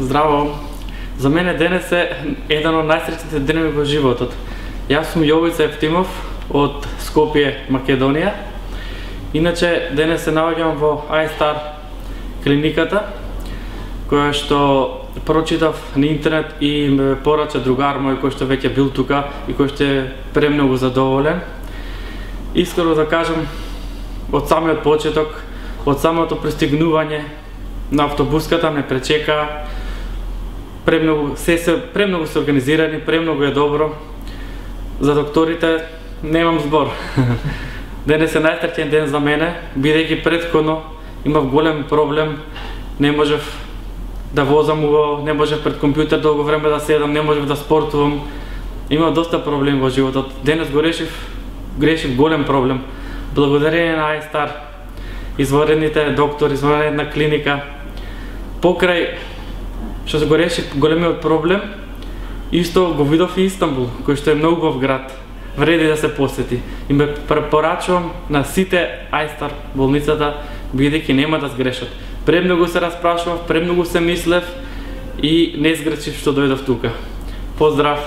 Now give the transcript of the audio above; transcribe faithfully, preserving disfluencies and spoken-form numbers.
Здраво! За мене денес е еден од најсреќните денови во животот. Јас сум Јовица Евтимов од Скопје, Македонија. Иначе денес се наоѓам во iStar клиниката, која што прочитав на интернет и ме порача другар мој кој што веќе бил тука и кој што е премногу задоволен. Искрено да кажам, од самиот почеток, од самото пристигнување на автобуската ме пречека, премногу се се премногу се организирани, премногу е добро. За докторите немам збор. Денес е најсреќен ден за мене, бидејќи претходно имав голем проблем, не можев да возам убаво, не можев пред компјутер долго време да седам, не можев да спортувам. Имав доста проблеми во животот. Денес го решив, грешив голем проблем. Благодарение на iStar, извонредните доктори, извонредна клиника, покрај што се го решив големиот проблем, исто го видов и Истанбул, кој што е многу убав град. Вреди да се посети. И ме препорачувам на сите iStar болницата, бидејќи нема да сгрешат. Премногу се распрашував, премногу се мислев и не сгрешив што дојдов тука. Поздрав!